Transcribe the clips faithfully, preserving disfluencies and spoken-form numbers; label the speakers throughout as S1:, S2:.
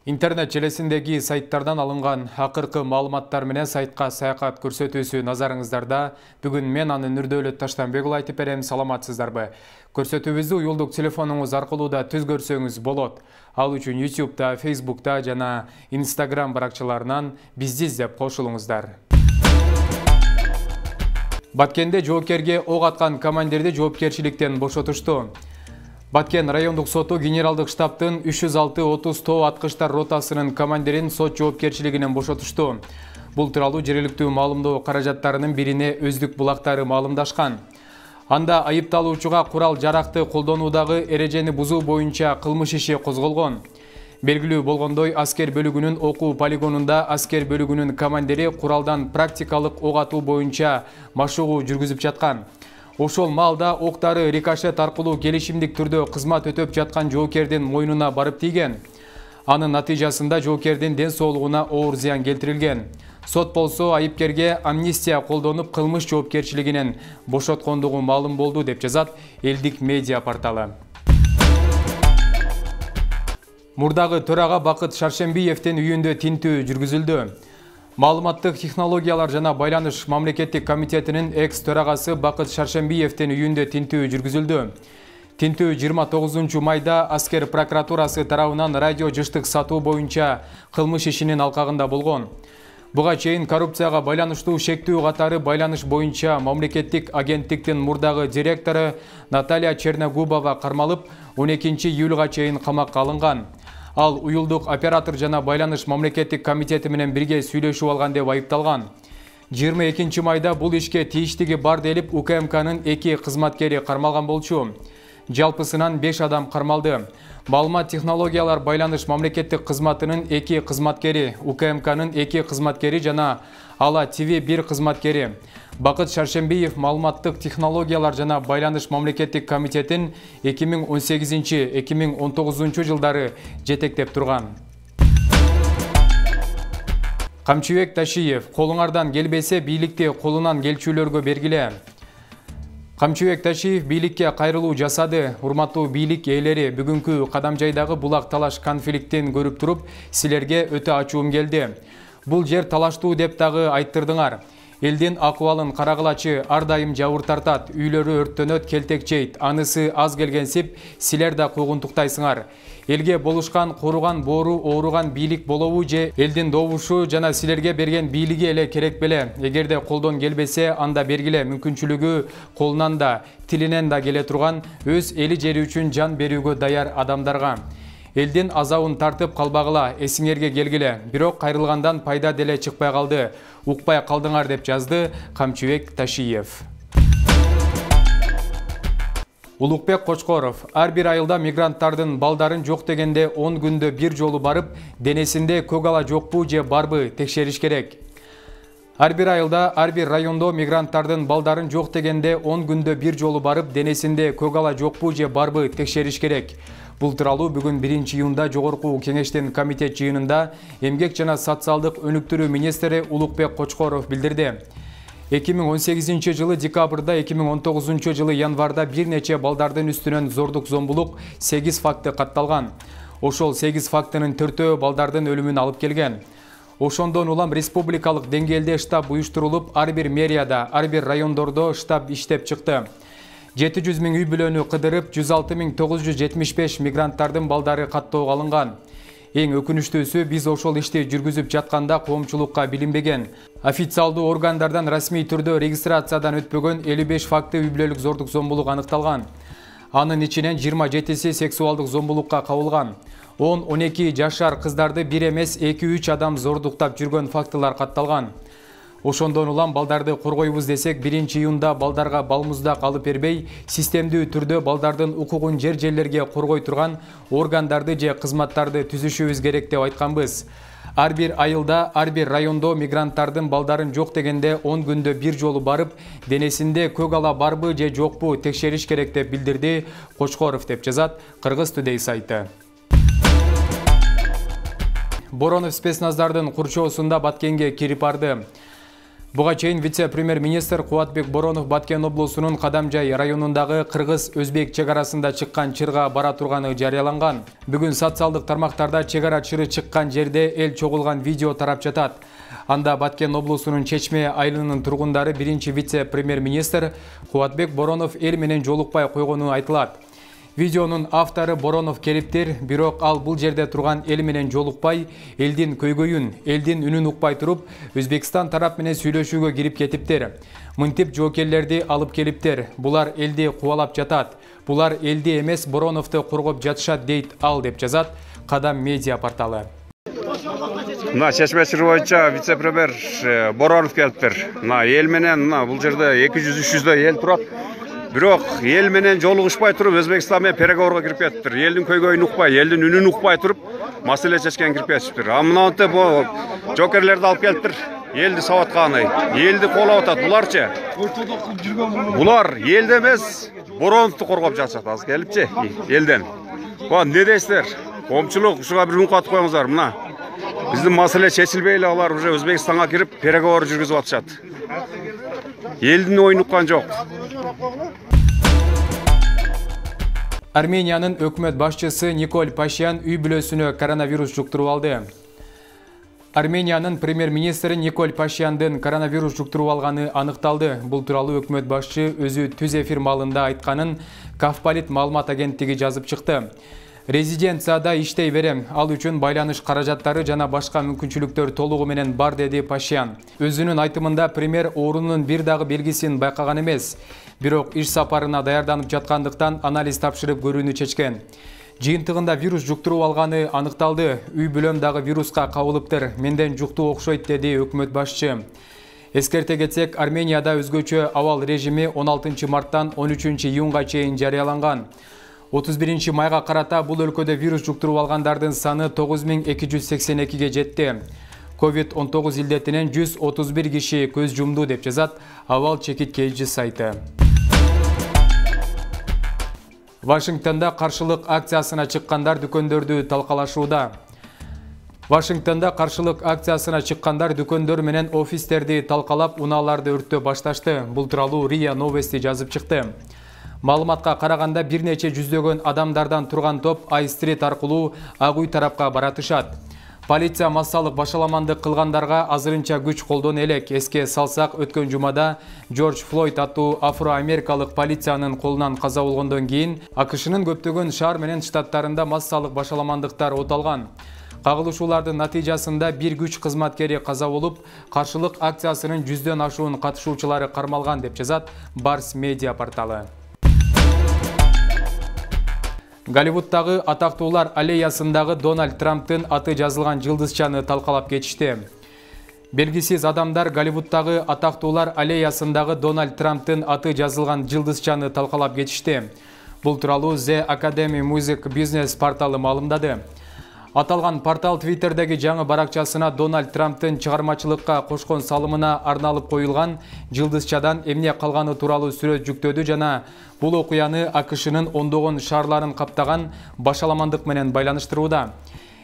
S1: Интернет желесиндеги сайттардан алынган акыркы маалыматтар менен сайтка саякат көрсөтүүсү назарыңыздарда. Бүгүн мен аны Нурдөөлөт Таштанбек уулу айтып берем. Саламатсыздарбы? Көрсөтүүбүздү уюлдук телефонуңуз аркылуу да түз көрсөңүз болот. Ал үчүн ютубта, фейсбукта жана инстаграм баракчаларынан бизди издеп кошулуңуздар. Баткенде жоопкерге ок аткан командирди жоопкерчиликтен бошотушту. Баткен райондук соту генералдык штабтын үч жүз алты отуз тоо аткычтар ротасынын командирин сот жоопкерчилигинен бошотушту. Бул тууралуу жергиликтүү маалымдоо каражаттарынын бирине өздүк булактары маалымдашкан. Анда айыпталуучуга курал жаракты колдонуудагы эрежени бузуу боюнча кылмыш иши козголгон. Белгилүү болгондой, аскер бөлүгүнүн окуу полигонунда аскер бөлүгүнүн командири куралдан практикалык ок атуу боюнча машыгуу жүргүзүп жаткан. Ошол маалда октары рикошет аркылуу келишимдик түрдө кызмат өтөп жаткан жоокердин мойнуна барып тийген. Анын натыйжасында жоокердин ден соолугуна оор зыян келтирилген. Сот болсо айыпкерге амнистия колдонуп кылмыш жоопкерчилигинен бошоткондугу маалым болду деп жазат элдик медиа порталы. Мурдагы төрага Бакыт Шаршембиевдин үйүндө тинтүү жүргүзүлдү. Маалыматтык технологиялар жана байланыш мамлекеттик комитетинин экс төрагасы Бакыт Шаршембиевдин үйүндө тинтүү жүргүзүлдү. Тинтүү жыйырма тогузунчу майда аскер прокуратурасы тарабынан радио жыштык сатуу боюнча кылмыш ишинин алкагында болгон. Буга чейин коррупцияга байланыштуу шектүү катары байланыш боюнча мамлекеттик агенттиктин мурдагы директору Наталья Черногубова кармалып, он экинчи июлга чейин камакка алынган. Ал уюлдук оператор жана байланыш мамлекеттик комитети менен бирге сүйлөшүп алган деп айыпталган. жыйырма экинчи майда бул ишке тийиштиги бар делип У К М К'нын эки кызматкери кармалган болчу. Жалпысынан беш адам кармалды. Маалымат технологиялар байланыш мамлекеттик кызматынын эки кызматкери, У К М К'нын эки кызматкери жана Ала Т В бир кызматкери. Бакыт Шаршембиев маалыматтык технологиялар жана байланыш мамлекеттик комитетин эки миң он сегизинчи — эки миң он тогузунчу жылдары жетектеп турган. Камчыбек Ташиев: колуңардан келбесе бийликти колунан келчүлөргө бергиле. Камчыбек Ташиев бийликке кайрылуу жасады. Урматтуу бийлик ээлери, бүгүнкү Кадамжайдагы булак талаш конфликтин көрүп туруп, силерге өтө ачуум келди. Бул жер талаштуу деп дагы айттырдыңар. Элдин акыбалын карагылачы, ар дайым жабыр тартат, үйлөрү өрттөнөт, келтек жейт, анысы аз келгенсип, силер да куугунтуктайсыңар. Элге болушкан, коруган боору ооруган бийлик болобу же элдин добушу жана силерге берген бийлиги эле керек беле? Эгерде колдон келбесе, анда бергиле. Мүмкүнчүлүгү колунан да, тилинен да келе турган, өз эли жери үчүн жан берүүгө даяр адамдарга. Элдин азабын тартып калбагыла, эсиңерге келгиле. Бирок кайрылгандан пайда деле чыкпай калды. Укпай калдыңар деп жазды Камчыбек Ташиев. Улукбек Кочкоров: ар бир айылда мигранттардын балдарын жок дегенде он күндө бир жолу барып, денесинде көк ала жокпу же барбы текшериш керек. Ар бир айылда, ар бир райондо мигранттардын балдарын жок дегенде он күндө бир жолу барып, денесинде көк ала жокпу же барбы текшериш керек. Бул тууралуу бүгүн биринчи июнда Жогорку Кеңештин комитет жыйынында Эмгек жана социалдык өнүктүрүү министри Улукбек Кочкоров билдирди. эки миң он сегизинчи жылы декабрда, эки миң он тогузунчу жылы январда бир нече балдардын үстүнөн зордук зомбулук сегиз факты катталган. Ошол сегиз фактынын төртөө балдардын өлүмүн алып келген. Ошондон улам республикалык деңгээлде штаб уюштурулуп, ар бир мэрияда, ар бир райондордо штаб иштеп чыкты. жети жүз миң үй бүлөнү кыдырып, жүз алты миң тогуз жүз жетимиш беш мигранттардын балдары каттоого алынган. Эң өкүнүчтүүсү, биз ошол ишти жүргүзүп жатканда коомчулукка билинбеген. Официалдуу органдардан расмий түрдө регистрациядан өтпөгөн элүү беш факты үй бүлөлүк зордук зомбулук аныкталган. Анын ичинен жыйырма жетиси сексуалдык зомбулукка кабылган. он он эки жашар кыздарды бир эмес эки үч адам зордуктап жүргөн фактылар катталган. Ошондон улам балдарды коргойбуз десек, биринчи июнда балдарга балмуздак алып бербей, системдүү түрдө балдардын укугун жер жерлерге коргой турган органдарды же кызматтарды түзүшүбүз керек деп айтканбыз. Ар бир айылда, ар бир райондо мигранттардын балдарын жок дегенде он күндө бир жолу барып, денесинде көк ала барбы же жокпу текшериш керек деп билдирди Кочкоров деп жазат Кыргыз Today сайты. Боронов спецназдардын курчоосунда Баткенге кирип барды. Буга чейин вице-премьер-министр Кубатбек Боронов Баткен облусунун Кадамжай районундагы кыргыз-өзбек чек арасында чыккан чырга бара турганы жарыяланган. Бүгүн социалдык тармактарда чек ара чыры чыккан жерде эл чогулган видео тарап жатат. Анда Баткен облусунун Чечме айылынын тургундары биринчи вице-премьер-министр Кубатбек Боронов эл менен жолукпай койгону айтылат. Видеонун автору Боронов келиптир, бирок ал бул жерде турган эл менен жолукпай, элдин көйгөйүн, элдин үнүн укпай туруп, Өзбекстан тарап менен сүйлөшүүгө кирип кетиптир. Мынтип жоокерлерди алып келиптир. Булар элди кубалап жатат. Булар элди эмес, Бороновду коргоп жатышат дейт ал, деп жазат Кадам медиа порталы.
S2: Мына Чечме чыры боюнча вице-премьер Боронов келиптир. Мына эл менен мына бул жерде эки жүз үч жүздөй эл турат. Бирок эл менен жолугушпай туруп Өзбекстан менен переговорго кирип кетиптир. Элдин көйгөйүн укпай, элдин үнүн укпай туруп, маселе чечкенге кирип кетиптир. А мынантип бу жокерлерди алып келиптир. Элди сабатканы, элди колоп атат. Буларчы? Булар элди эмес, Бороновду коргоп жатышат азыр келипчи, элден. Бу эмне дейсиздер? Коомчулук ушуга бир үн катып коюңуздар. Мына биздин маселе чечилбей эле алар уже Өзбекстанга кирип переговор жүргүзүп атышат. Элдин оюн уккан жок.
S1: Армениянын өкмөт башчысы Николь Пашинян үй бүлөсүнө коронавирус жуктуруп алды. Армениянын премьер-министри Николь Пашиняндын коронавирус жуктуруп алганы аныкталды. Бул тууралуу өкмөт башчы өзү түз эфир маалында айтканын Кавполит маалымат агенттиги жазып чыкты. Резиденцияда иштей берем, ал үчүн байланыш каражаттары жана башка мүмкүнчүлүктөр толугу менен бар, деди Пашинян. Өзүнүн айтымында премьер оорунун бир дагы белгисин байкаган эмес, бирок иш сапарына даярданып жаткандыктан анализ тапшырып көрүүнү чечкен. Жыйынтыгында вирус жуктуруп алганы аныкталды. Үй бүлөм дагы вируска кабылыптыр. Менден жуктуу окшойт, деди өкмөт башчы. Эскерте кетсек, Арменияда өзгөчө абал режими он алтынчы марттан он үчүнчү июнга чейин жарыяланган. отуз биринчи майга карата бул өлкөдө вирус жуктуруп алгандардын саны тогуз миң эки жүз сексен экиге жетти. ковид он тогуз илдетинен жүз отуз бир киши көз жумду, деп жазат Абал чекиткейчи сайты. Вашингтонда каршылык акциясына чыккандар дүкөндөрдү талкалашууда. Вашингтонда каршылык акциясына чыккандар дүкөндөр менен офистерди талкалап, унааларды өрттөө башташты. Бул тууралуу РИА Новости жазып чыкты. Маалыматка караганда бир нече жүздөгөн адамдардан турган топ Ай-стрит аркылуу Ак үй тарапка баратышат. Полиция массалык башаламандык кылгандарга азырынча күч колдоно элек. Эске салсак, өткөн жумада Джордж Флойд аттуу афро-америкалык полициянын колунан каза болгондон кийин АКШнын көптөгөн шаар менен штаттарында массалык башаламандыктар оталган. Кагылышуулардын натыйжасында бир күч кызматкери каза болуп, каршылык акциясынын жүздөн ашуун катышуучулары кармалган, деп жазат Барс медиа порталы. Голливудтагы атактуулар аллеясындагы Дональд Трамптын аты жазылган жылдызчаны талкалап кетишти. Белгисиз адамдар Голливудтагы атактуулар аллеясындагы Дональд Трамптын аты жазылган жылдызчаны талкалап кетишти. Бул тууралуу The Academy Music Business порталы маалымдады. Аталган портал Твиттердеги жаңы баракчасына Дональд Трамптын чыгармачылыкка кошкон салымына арналып коюлган жылдызчадан эмне калганы тууралуу сүрөт жүктөдү жана бул окуяны АКШнын ондогон шаарларын каптаган башаламандык менен байланыштырууда.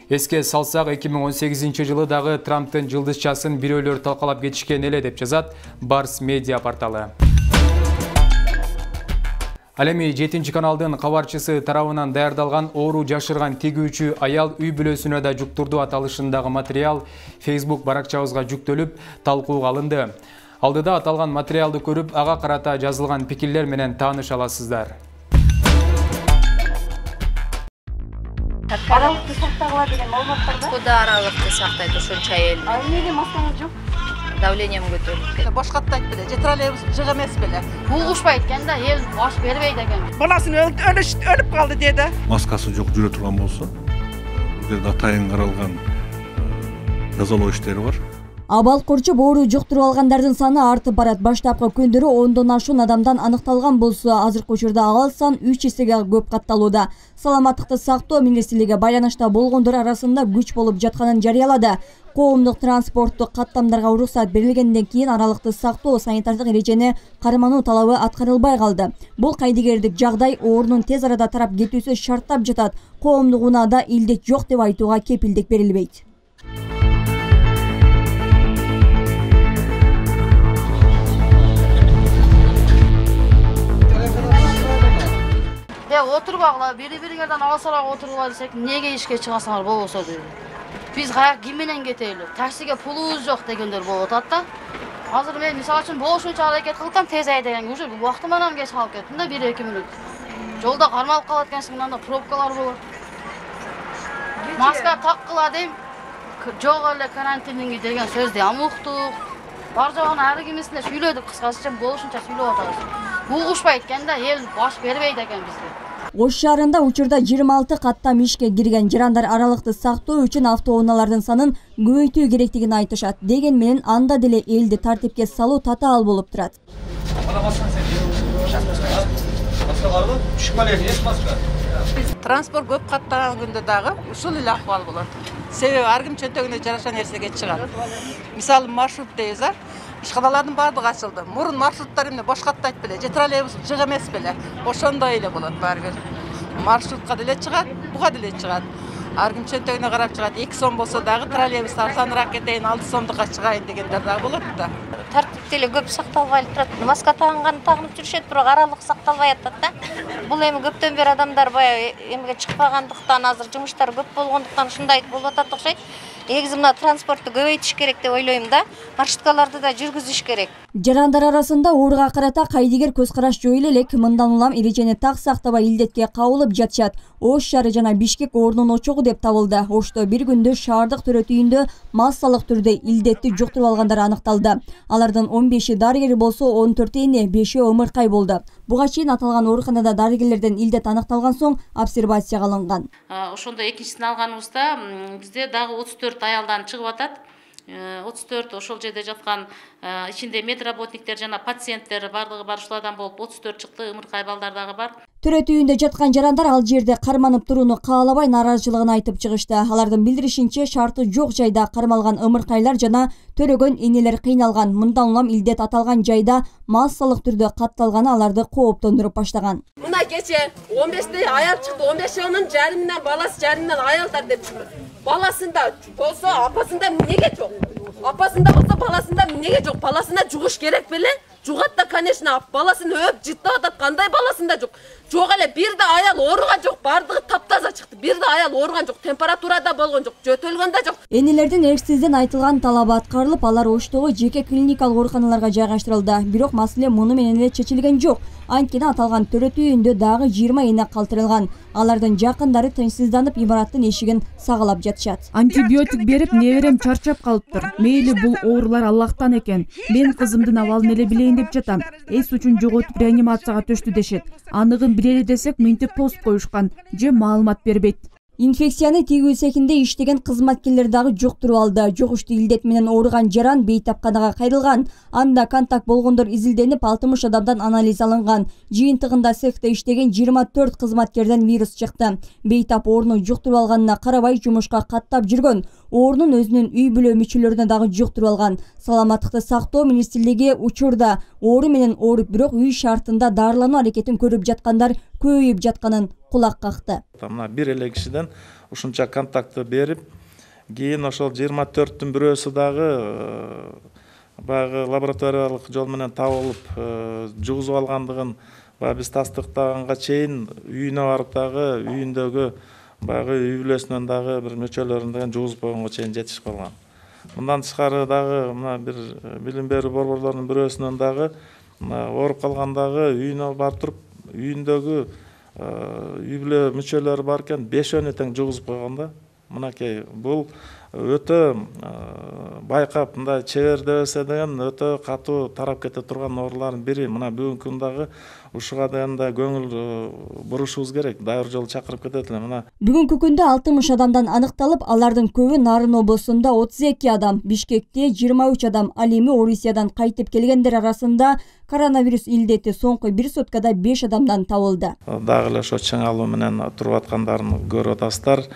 S1: Эске салсак, эки миң он сегизинчи жылы дагы Трамптын жылдызчасын бирөөлөр талкалап кетишкен эле, деп жазат Барс медиа порталы. Ал эми жетинчи каналдын кабарчысы тарабынан даярдалган оору жашырган тигүүчү аял үй бүлөсүнө да жуктурду аталышындагы материал Facebook баракчабызга жүктөлүп, талкууга алынды. Алдыда аталган материалды көрүп, ага карата жазылган пикирлер менен тааныша аласыздар.
S3: Аралыкты сактагыла деген маалымат барда?
S4: Куда аралыкты сактайт ошонча эл?
S3: А эмнеге маскаңыз жок?
S4: Давлением көтөрүлүп.
S5: Башкатта айтты беле, же троллейбус жыгы эмес беле.
S6: Булгушпайт экен да, эл баш бербейт экен.
S5: Баласын өлүп калды деди.
S7: Маскасы жок жүрө турган болсо, бул жерде атайын каралган жазалоо иштери бар.
S8: Абал корчуп оору жуктуруп алгандардын саны артып барат. Баштапкы күндөрү ондон ашуун адамдан аныкталган болсо, азыркы учурда ал сан үч эсеге көп катталууда. Саламаттыкты сактоо министрлиги байланышта болгондор арасында күч болуп жатканын жарыялады. Коомдук транспорттук каттамдарга уруксат берилгенден кийин аралыкты сактоо санитардык эрежени кармануу талабы аткарылбай калды. Бул кайдыгердик жагдай оорунун тез арада тарап кетүүсү шарттап жатат. Коомдук унаада илдет жок деп айтууга кепилдик берилбейт.
S6: де отурбагыла, бири-бириңерден алысыраак отурула десек, неге ишке чыгасыңар болбосо дейт. Биз каяк ким менен кетели? Таксиге пулубуз жок дегендер болуп атат да. Азыр мен мисалы үчүн болушунча аракет кылсам, тез айдаган, уже убактыман кеч калып кеттим да, бир-эки мүнөт. Жолда кармалып калат экенсиң, мында пробкалар болот. Маска таккыла дейм. Жок эле карантиниңи деген сөздү ам уктук. Бар жогун ар кимисине сүйлөдүк, кыскача болушунча сүйлөп атабыз. Угушпайт экен да, эл баш бербейт экен бизге.
S8: Ош шаарында учурда жыйырма алты каттам ишке кирген, жарандар аралыкты сактоо үчүн автоунаалардын санын көбөйтүү керектигин айтышат. Деген менен анда деле элди тартипке салуу татаал болуп турат.
S5: Транспорт көп каттаган күндө дагы ушул эле акыбал болот. Себеби ар ким чөнтөгүнө жараша нерсеге чыгат. Мисалы маршрут дейбиз, а? Ишканалардын баардыгы ачылды. Мурун маршруттар эмне бош каттайт беле, же троллейбус жык эмес беле. Ошондой эле болот баары бир. Маршрутка деле чыгат, буга деле чыгат. Ар ким чөнтөгүнө карап чыгат. эки сом болсо дагы троллейбус арзаныраак кетейин, алты сомдукка чыгайын дегендер дагы болот да.
S4: Тартип деле көп сакталбай турат. Маска тагынган тагынып жүрүшөт, бирок аралык сакталбай атат да. Бул эми көптөн бери адамдар баягы эмге чыкпагандыктан, азыр жумуштар көп болгондуктан ушундай болуп атат окшойт. Негизи мына транспортту көбөйтүш керек деп ойлойм да. Маршруткаларды да жүргүзүш керек.
S8: Жарандар арасында ооруга карата кайдыгер көз караш жоюла элек. Мындан улам эрежени так сактабай илдетке кабылып жатышат. Ош шаары жана Бишкек оорунун очогу деп табылды. Ошто бир күндө шаардык төрөтүйүндө массалык түрдө илдетти жуктуруп алгандар аныкталды. Алардын он беши дарыгер болсо, он төртү эне, бешөө ымыркай болду. Буга чейин аталган ооруканада дарыгерлерден илдет аныкталган соң обсервацияга алынган.
S9: Ошондо экинчисин алганыбызда бизде дагы отуз төрт аялдан чыгып атат. отуз төрт ошол жерде жаткан ичинде медработниктер жана пациенттер бардыгы бар ушулардан болуп отуз төрт чыкты, ымыркай балдар дагы бар.
S8: Төрөтүйүндө жаткан жарандар ал жерде карманып турууну каалабай нааразычылыгын айтып чыгышты. Алардын билдиришинче, шарты жок жайда кармалган ымыркайлар жана төрөгөн энелер кыйналган. Мындан улам илдет аталган жайда массалык түрдө катталганы аларды кооптондуруп баштаган.
S10: Мына кече он беште аял чыкты, он бешөөнүн жарымынан баласы, жарымынан аялдар деп чыкты. Баласында болсо апасында эмнеге жок? Апасында болсо баласында эмнеге жок? Баласына жугуш керек беле? Жугат да, конечно, баласын өп жыттап атат, кандай баласында жок? Жок эле, бир да аял ооруган жок, бардыгы таптаза чыкты. Бир да аял ооруган жок, температурада болгон жок, жөтөлгөн да жок.
S8: Энелердин эрксизден айтылган талабы аткарылып, алар Оштогу жеке клиникалык ооруканаларга жайгаштырылды. Бирок маселе муну менен эле чечилген жок. Анткени аталган төрөтүйүндө дагы жыйырма эне калтырылган. Алардын жакындары тынчсызданып, имараттын эшигин сагалап жатышат.
S11: Антибиотик берип, неберем чарчап калыптыр. Мейли бул оорулар Аллахтан экен. Мен кызымдын абалын эле билейин деп жатам. Эс үчүн жоготуп реанимацияга төштү дешет. Аныгын билели десек, мынтип пост коюшкан же маалымат бербейт.
S8: Инфекцияны тигүү цехинде иштеген кызматкерлер дагы жуктуруп алды. Жугуштуу илдет менен ооруган жаран бейтапканага кайрылган. Анда контакт болгондор изилденип, алтымыш адамдан анализ алынган. Жыйынтыгында цехте иштеген жыйырма төрт кызматкерден вирус чыкты. Бейтап ооруну жуктуруп алганына карабай жумушка каттап жүргөн. Оорунун өзүнүн үй бүлө мүчөлөрүнө дагы жуктуруп алган. Саламаттыкты сактоо министрлиги учурда оору менен ооруп, бирок үй шартында дарылануу аракетин көрүп жаткандар көбөйүп жатканын кулак какты.
S12: Мына бир эле кишиден ушунча контактты берип, кийин ошол жыйырма төрттүн бирөөсү дагы баягы лабораториялык жол менен табылып жугузуп алгандыгын баягы биз тастыктаганга чейин үйүнө барып дагы үйүндөгү баягы үй бүлөсүнөн дагы бир мүчөлөрүн жугузуп койгонго чейин жетишип калган. Мындан тышкары дагы мына бир билим берүү борборлорунун бирөөсүнөн дагы ооруп калгандагы үйүнө барып туруп үйүндөгү үй бүлө мүчөлөрү бар экен, бешөөнү тең жугузуп койгон да. Мынакей бул өтө байкап, мындай чебер дебесе деген өтө катуу тарап кете турган оорулардын бири. Мына бүгүнкү күндагы ушуга да көңүл бурушубуз керек. Дайыр жолу чакырып кетет эле. Мына
S8: бүгүнкү күндө алтымыш адамдан аныкталып, алардын көбү Нарын облусунда отуз эки адам, Бишкекте жыйырма үч адам, ал эми Орусиядан кайтып келгендер арасында коронавирус илдети соңку бир суткада беш адамдан табылды.
S12: Дагы эле ошо чыңалуу менен туруп аткандарын көрүп атасыздар.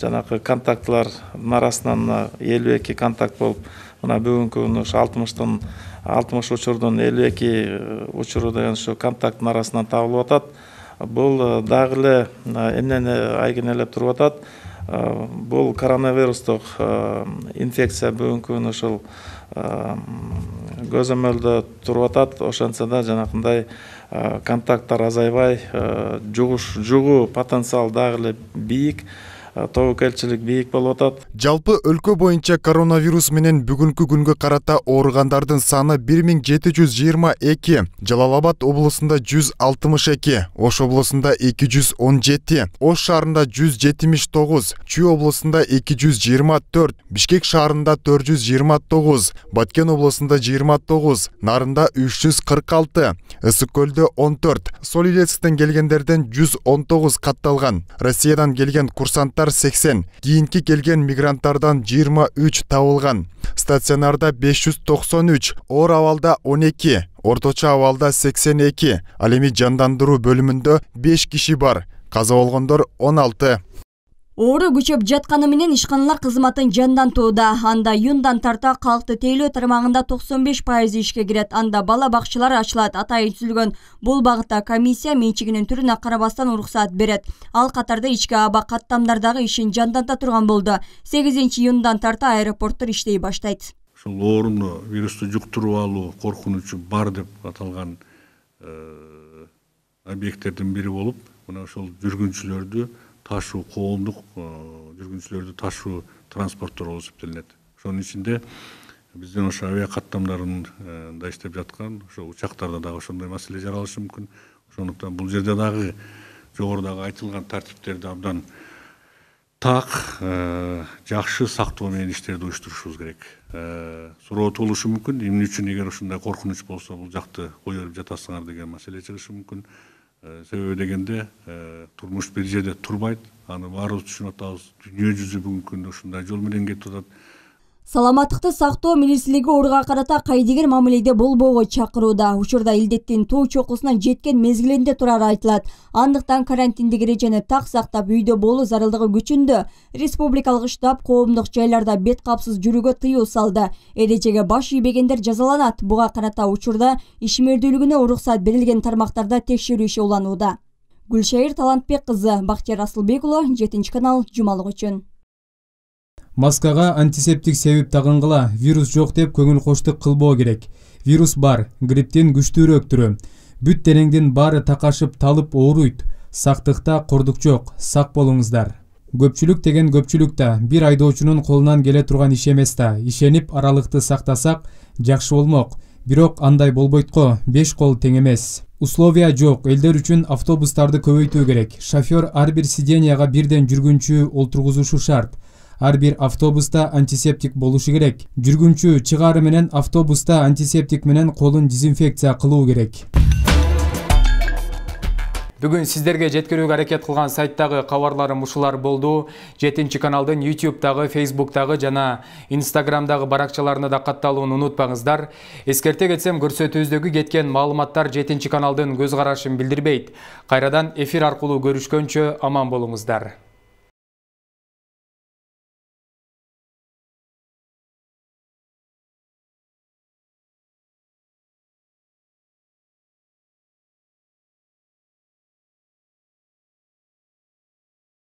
S12: Жанагы контактлардын арасынан элүү эки контакт болуп, мына бүгүнкү күнү ушу алтымыштын алтымыш учурдун элүү эки учуру деген ушу контакттын арасынан табылып атат. Бул дагы эле эмнени айгинелеп туруп атат? бул коронавирустук инфекция бүгүнкү күнү ушул көзөмөлдө туруп атат. Ошентсе да жанакындай контакттар азайбай, жугуу потенциал дагы эле бийик, тобокелчилик бийик болуп атат.
S13: Жалпы өлкө боюнча коронавирус менен бүгүнкү күнгө карата ооругандардын саны бир миң жети жүз жыйырма эки, Жалал Абад облусунда жүз алтымыш эки, Ош облусунда эки жүз он жети, Ош шаарында жүз жетимиш тогуз, Чүй облусунда эки жүз жыйырма төрт, Бишкек шаарында төрт жүз жыйырма тогуз, Баткен облусунда жыйырма тогуз, Нарында үч жүз кырк алты, Ысык көлдө он төрт, Сол Илецктен келгендерден жүз он тогуз катталган. Россиядан келген курсанттар сексен, кийинки келген мигранттардан жыйырма үч табылган. Стационарда беш жүз токсон үч, оор абалда он эки, орточо абалда сексен эки, ал эми жандандыруу бөлүмүндө беш киши бар. Каза болгондор он алты.
S8: Оору күчөп жатканы менен ишканалар кызматын жандантууда. Анда июндан тарта калкты тейлөө тармагында токсон беш пайыз ишке кирет. Анда бала бакчалар ачылат. Атайын түзүлгөн бул багытта комиссия менчигинин түрүнө карабастан уруксат берет. Ал катарда ички аба каттамдардагы ишин жанданта турган болду. сегизинчи июндан тарта аэропорттор иштей баштайт.
S7: Ушул ооруну, вирусту жуктуруп алуу коркунучу бар деп аталган объекттердин бири болуп, мына ошол жүргүнчүлөрдү ташуу, коомдук жүргүнчүлөрдү ташуу транспорттор болуп эсептелинет. Ошонун ичинде биздин ошо авиа каттамдарында иштеп жаткан ошо учактарда дагы ошондой маселе жаралышы мүмкүн. Ошондуктан бул жерде дагы жогорудагы айтылган тартиптерди абдан так, жакшы сактоо менен иштерди уюштурушубуз керек. Суроо туулушу мүмкүн. Эмне үчүн эгер ушундай коркунуч болсо бул жакты кое берип жатасыңар деген маселе чыгышы мүмкүн. Себеби дегенде турмуш бир жерде турбайт, аны баарыбыз түшүнүп атабыз. Дүйнө жүзү бүгүнкү күндө ушундай жол менен кетип атат.
S8: Саламаттыкты сактоо министрлиги ооруга карата кайдыгер мамиледе болбоого чакырууда. Учурда илдеттин тоо чокусуна жеткен мезгилинде турары айтылат. Андыктан карантиндик эрежени так сактап үйдө болуу зарылдыгы күчүндө. Республикалык штаб коомдук жайларда бет капсыз жүрүүгө тыюу салды. Эрежеге баш ийбегендер жазаланат. Буга карата учурда ишмердүүлүгүнө уруксат берилген тармактарда текшерүү иши уланууда. Гүлшайыр Талантбек кызы, Бактияр Асылбек уулу, жетинчи канал, жумалык үчүн.
S1: Маскага антисептик себеп тагынгыла, вирус жок деп көңүл коштук кылбоо керек. Вирус бар, грипптен күчтүүрөөк түрү. Бүт денеңдин баары такашып талып ооруйт. Сактыкта кордук жок, сак болуңуздар. Көпчүлүк деген көпчүлүк да бир айдоочунун колунан келе турган иш эмес да. Ишенип аралыкты сактасак жакшы болмок. Бирок андай болбойт го, беш кол тең эмес. Условия жок, элдер үчүн автобустарды көбөйтүү керек. Шофёр ар бир сиденияга бирден жүргүнчү олтургузушу шарт. Ар бир автобуста антисептик болушу керек. Жүргүнчү чыгаары менен автобуста антисептик менен колун дезинфекция кылуу керек. Бүгүн сиздерге жеткирүүгө аракет кылган сайттагы кабарларым ушулар болду. жетинчи каналдын ютубтагы, фейсбуктагы жана инстаграмдагы баракчаларына да катталууну унутпаңыздар. Эскерте кетсем, көрсөтүүбүздөгү кеткен маалыматтар жетинчи каналдын көз карашын билдирбейт. Кайрадан эфир аркылуу көрүшкөнчө аман болуңуздар.